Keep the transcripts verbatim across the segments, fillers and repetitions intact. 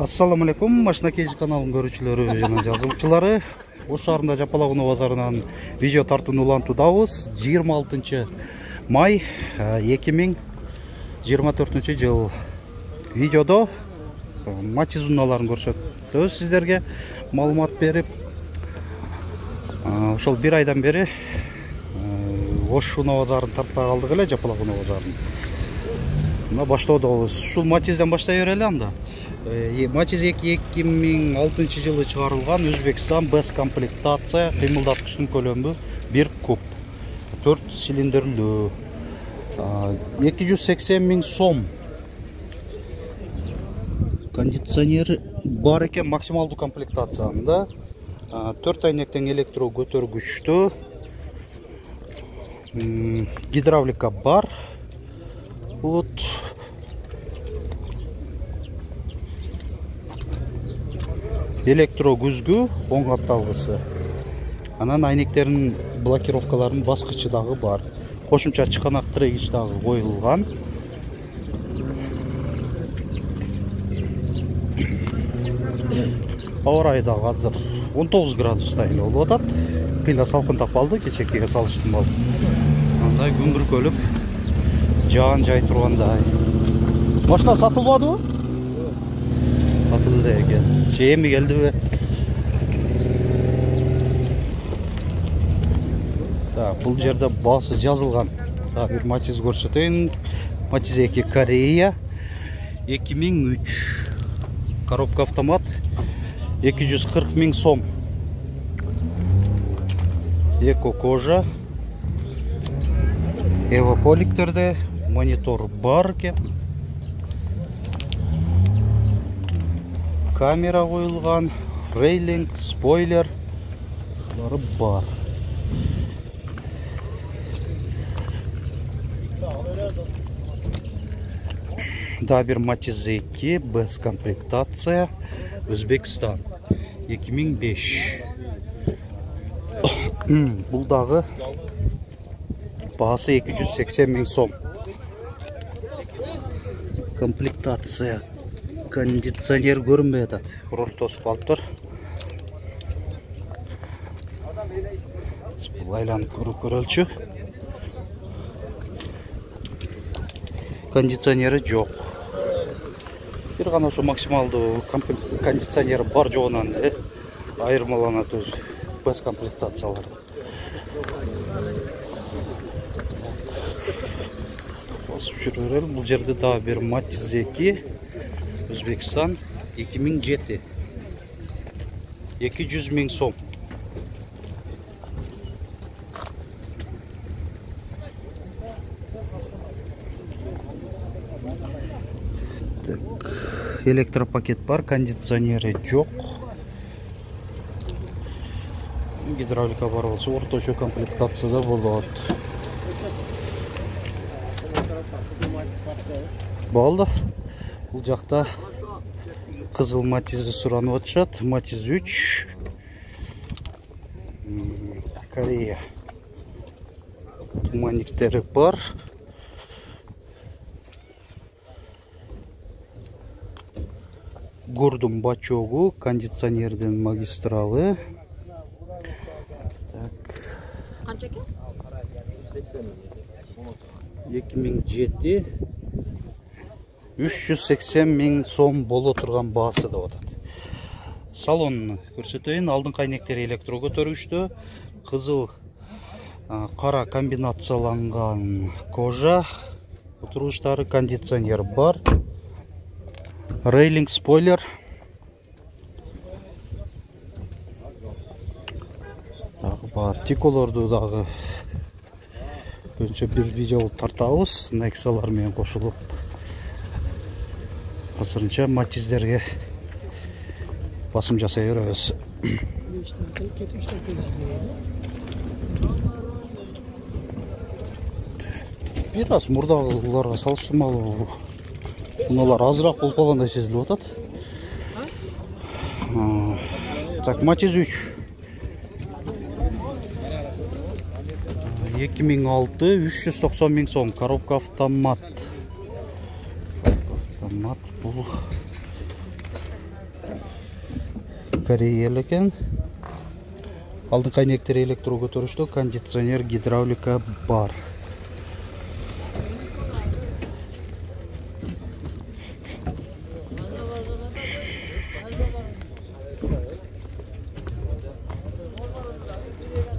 Ассаламу алейкум, Машина Кейси каналынын көрүүчүлөрү жана жазуучулары. Ош шаарында Жапалакуноо базарынан видео тартууну улантуудабыз. жыйырма алтынчы май эки миң жыйырма төртүнчү жыл. Видеодо Матиз унааларын көрсөтөбүз сиздерге, маалымат берип. Ошол бир айдан бери Ош унаа базарын тарта калдык эле, Жапалакуноо базарын. Мына баштоодобуз. Ушул Матизден баштай берели анда. Матиз эки миң алтынчы жылы чыгарылган Өзбекстан Б комплектация кыймылдаткычтын көлөмү бир куб, төрт цилиндрлүү, эки жүз сексен миң сом. Кондиционер бар экен, максималдуу комплектациянда. төрт айнектен электро көтөргүчтүү, гидравлика бар. Бут электро күзгү, оң капталгысы. Анан айнектердин блокировкаларынын баскычы дагы бар. Кошумча чыканак трегич дагы коюлган. Аба ырайы дагы азыр он тогуз градуста эле болуп атат. Кыйла салкынтап калды, кечээкиге салыштырмалуу. Андай күн бүркөлүп, жаан жай тургандай. Машина сатылбадыбы? Сатылды экен. Эми келдиби? Так, бул жерде баасы жазылган. Так, бир Матиз көрсөтөйүн. Матиз эки Корея, эки миң үч. Коробка автомат, эки жүз кырк миң сом. Эко кожа. Эвополиктерде монитор бар экен. Камера коюлган, рейлинг, спойлер ушулары бар. Да, бир Матиз эки Б комплектация Өзбекстан эки миң беш. Бул дагы баасы эки жүз сексен миң сом. Комплектация. Кондиционер көрүнбөй атат. Руль тосуп калыптыр. Бул айланып көрүп көрөлчү. Кондиционери жок. Бир гана ошо максималдуу кондиционери бар жогунан айырмаланат өзү Б комплектациялар. Басып жүрө берели. Бул жерде дагы бир Матиз эки Өзбекстан эки миң жети. эки жүз миң сом. Так, электропакет бар, кондиционери жок. Гидравлика бар болсо орточо комплектацияда болот. Болду. Бул жакта кызыл Матизди суранып атышат. Матиз үч Корея. Туманниктери бар. Гордун бачогу, кондиционердин магистралы. Так. Канча экен? эки миң жети. үч жүз сексен миң сом боло турган баасы деп атат. Салонун көрсөтөйүн. Алдыңкы айнектери электро көтөргүчтүү, кызыл кара комбинацияланган кожа, отургучтары, кондиционер бар. Рейлинг, спойлер. Дагы бар. Тиколорду дагы көбүнчө бир видео тартабыз. Нексалар менен кошулуп. Азырынча Матиздерге басым жасай беребиз. Бир аз мурдагыларга салыштырмалуу унаалар азыраак болуп калгандай сезилип атат. Так, Матиз үч эки миң алты, үч жүз токсон миң сом. Коробка автомат. Автомат бул Корея экен. Алдыңкы айнектер электро көтөрүштө, кондиционер, гидравлика бар.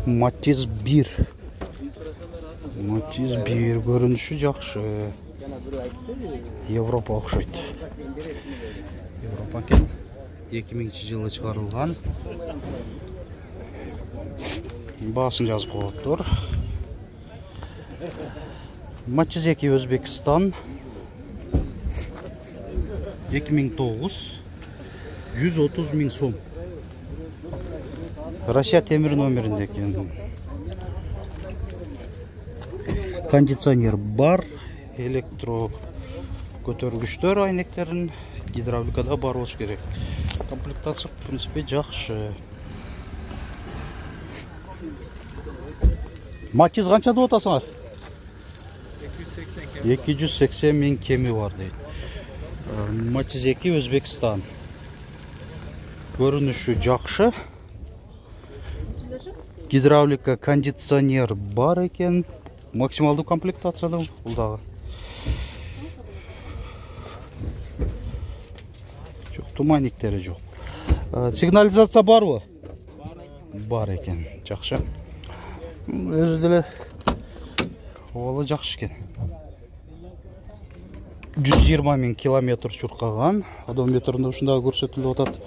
Матиз бир. Матиз бир көрүнүшү жакшы. Европа окшойт. Европа экен. эки миңинчи жылы чыгарылган. Баасын жазып коюптур. Матиз эки Өзбекстан. эки миң тогуз. жүз отуз миң сом. Россия темир номеринде экен. Кондиционер бар, электро көтөргүчтөр айнектерин, гидравликада бар болуш керек. Комплектация в принципе жакшы. Матиз канча деп атасыңар? эки жүз сексен миң кеми бар дейт. Матиз эки Өзбекстан. Көрүнүшү жакшы. Гидравлика, кондиционер бар экен. Максималдуу комплектацияда бул дагы. Жок, туманниктери жок. Сигнализация барбы? Бар экен. Жакшы. Өзү деле ола жакшы экен. жүз жыйырма миң километр чуркаган. Одометринде ушундай көрсөтүлүп атат.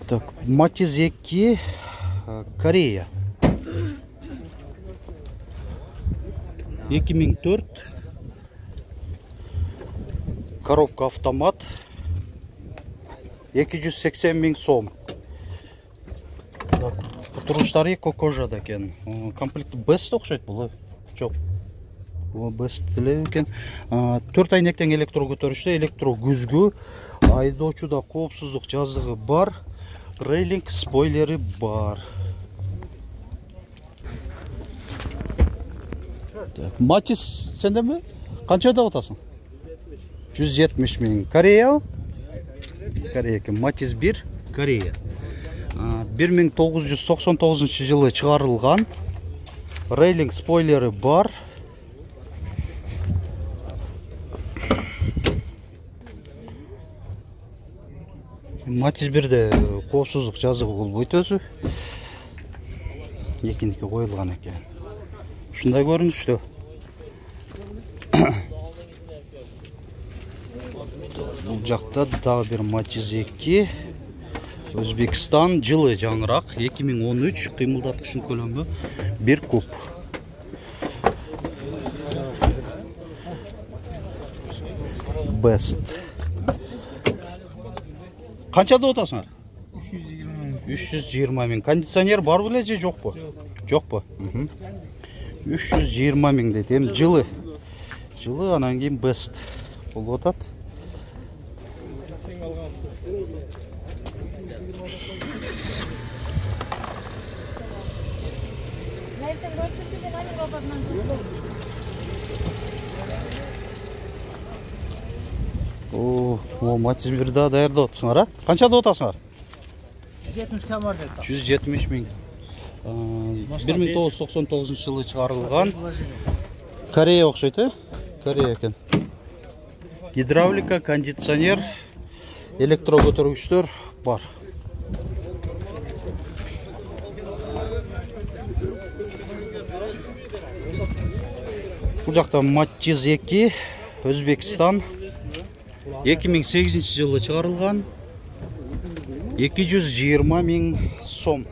Так, Матиз эки Корея. эки миң төрт. Коробка автомат. эки жүз сексен миң сом. Туруштары кокожада экен. Комплект Best окшойт бул. Жок. Бул Best деле экен. төрт айнектен электро көтөрүштө, электро күзгү, айдоочуда коопсуздук жазыгы бар. Рейлинг спойлери бар. Так, Матиз сендеби? Канча деп атасың? жүз жетимиш миң. Корея? Корея экен. Матиз бир Корея. бир миң тогуз жүз токсон тогузунчу жылы чыгарылган. Рейлинг спойлери бар. Матиз бирде коопсуздук жазыгы болбойт өзү. Экиники коюлган экен. Ушундай көрүнүштө. Бул жакта дагы бир Матиз эки Өзбекстан, жылы жаңыраак, эки миң он үч, кыймылдаткычын көлөмү бир куб. Best. Канча деп атасыңар? үч жүз жыйырма миң. Кондиционер бар беле же жокпу? Жокпу. үч жүз жыйырма миң дейт. Эми жылы. Жылы анан кийин Best болуп атат. О, Матиз бир да даярдап атсыңар, а? Канча деп атасыңар? жүз жетимиш кем бар дейт. жүз жетимиш миң. бир миң тогуз жүз токсон тогузунчу жылы чыгарылган. Корея окшойт, э? Корея экен. Гидравлика, кондиционер, электро көтөргүчтөр бар. Бул жакта Матиз эки Өзбекстан. эки миң сегизинчи жылы чыгарылган. эки жүз жыйырма миң сом.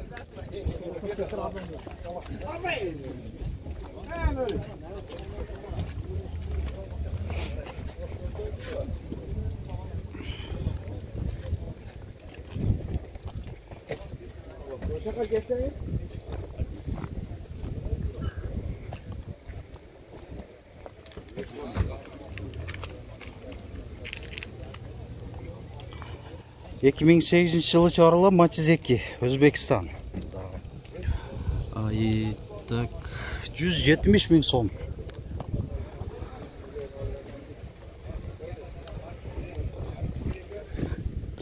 эки миң сегизинчи жылы чыгарылган Матиз эки Өзбекстан. Ай, так, жүз жетимиш миң сом.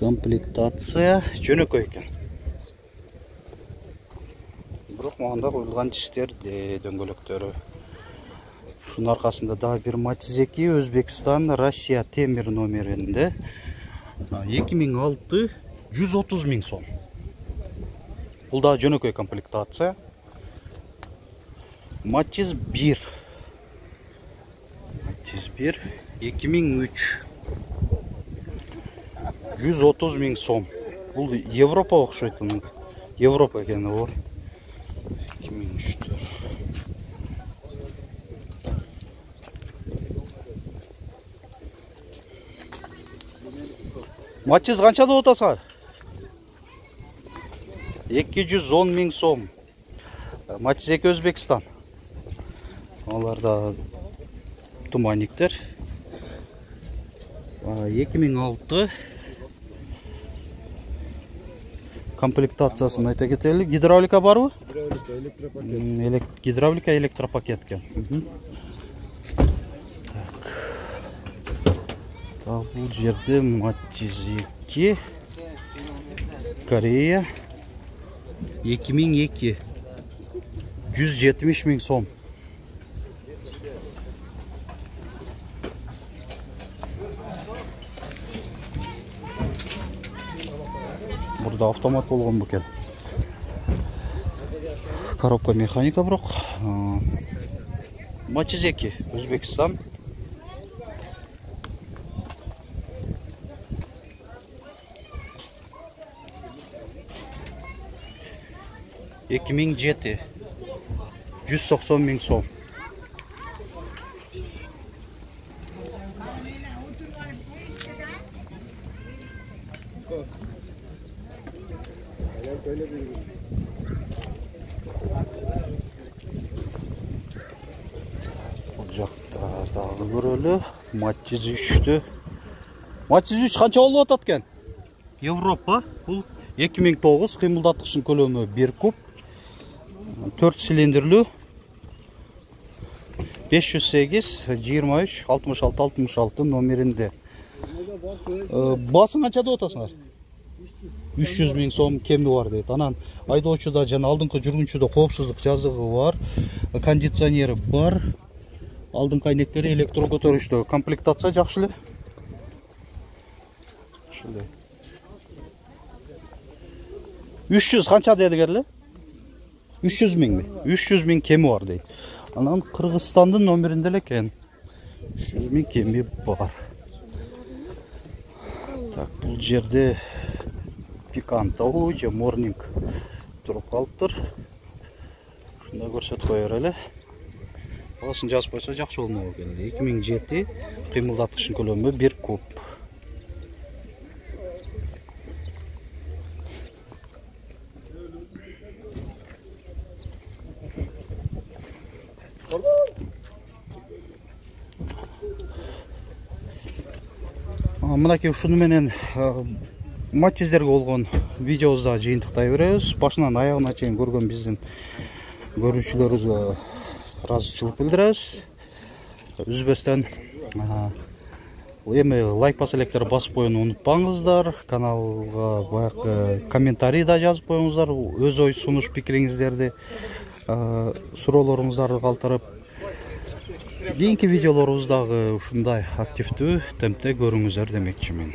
Комплектация жөнөкөй экен. Бирок мында коюлган чиштер дөңгөлөктөрү. Шунун аркасында дагы бир Матиз эки Өзбекстан, Россия темир номеринде эки миң алты жүз отуз миң сом. Бул да жөнөкөй комплектация. Матиз бир. Матиз бир эки миң үч жүз отуз миң сом. Бул Европа окшойт. Европа экени бар. эки миң үчтөр. Матиз канча деп атасыңар? эки жүз он миң сом. Матиз эки Өзбекстан. Алар да туманниктер. эки миң алты комплектациясын айта кетели. Гидравлика барбы? Гидравлика, электропакет. Гидравлика, электропакет экен. Так, бул жерде Матиз эки Корея эки миң эки жүз жетимиш миң сом. Burada автомат болгон бекен. Коробка механика бирок. Матиз эки Өзбекстан. эки миң жети жүз токсон миң сом. Бул жакта дагы көрөлү. Матиз үчтү. Матиз үч канча болуп атат экен? Европа. Бул эки миң тогуз, кыймылдаткычын көлөмү бир куб. төрт цилиндрлүү. беш жүз сегиз жыйырма үч алтымыш алты алтымыш алты номеринде. Басың канча деп атасыңар? үч жүз миң сом кеми бар дейт. Анан айдоочуда жана алдыңкы жүргүнчүдө коопсуздук жазыгы бар, кондиционери бар. Алдыңкы айнектери электро көтөрүштө. Комплектация жакшы эле. Ушундай. үч жүз канча дедиңер эле? үч жүз миңби? үч жүз миң кеми бар дейт. Анан Кыргызстандын номеринде эле экен. үч жүз миң кеми бар. Так, бул жерде Пикантау же Морнинг туруп калыптыр. Ушундай көрсөтүп кое берели. Басын жазып койсо жакшы болмок экен. эки миң жети кыймылдаткычын көлөмү бир куб. Мынакей ушуну менен Матиздерге болгон видеобузду жыйынтыктай беребиз. Башынан аягына чейин көргөн биздин көрүүчүлөрүбүзгө ыраазычылык билдиребиз. Үзбөстөн эми лайк басып электерди басып коюуну унутпаңыздар. Каналга баягы комментарий да жазып коюңуздар. Өз ой сунуш пикириңиздерди, суроолоруңуздарды калтырып, кийинки видеолорубуздагы ушундай активдүү темпте көрүңүздөр демекчимин.